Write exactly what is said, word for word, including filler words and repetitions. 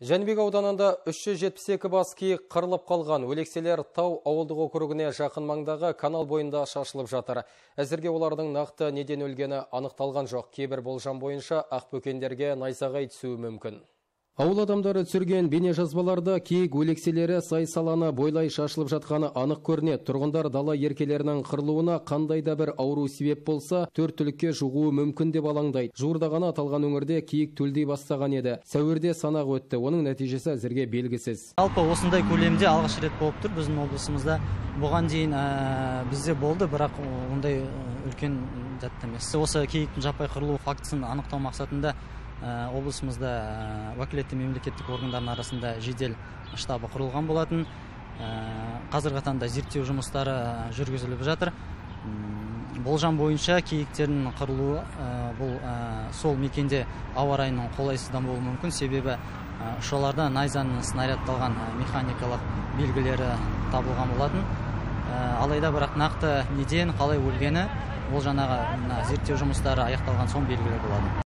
Жәнібек ауданында үш жүз жетпіс екі бас киік қырылып қалған. Өлекселер Тау ауылдық округіне жақын маңдағы канал бойында шашылып жатыр. Әзірге олардың нақты неден өлгені анықталған жоқ. Кейбір болжам бойынша ақбөкендерге найзағай түсуі мүмкін. Ауыл адамдары түсірген бейнежазбаларда киік өлекселері сай-саланы бойлай шашылып жатқаны анық көрінеді. Тұрғындар дала еркелерінің қырылуына қандай да бір ауру себеп болса, төрт түлікке жұғуы мүмкін деп алаңдайды. Жуырда ғана аталған өңірде киік төлдей бастаған еді. Сәуірде санақ өтті. Оның нәтижесі әзірге белгісіз. Жалпы осындай көлемде алғаш рет болып тұр біздің облысымызда. Бұған дейін бізде болды, бірақ ондай үлкен затты емес. Осы киіктің жаппай қырылу фактісін анықтау мақсатында облысымызда уәкілетті мемлекеттік органдардың арасында жедел штабы құрылған болатын. Қазіргі таңда зерттеу жұмыстары жүргізіліп жатыр. Болжам бойынша киіктердің қырылуы бұл сол мекенде ауа райының қолайсыздан болуы мүмкін. Себебі ұшаларда найзаның снарядталған механикалық белгілері табылған болатын. Алайда бірақ нақты неден қалай өлгені ол жаңағы зерттеу жұмыстары аяқталған соң белгілі болады.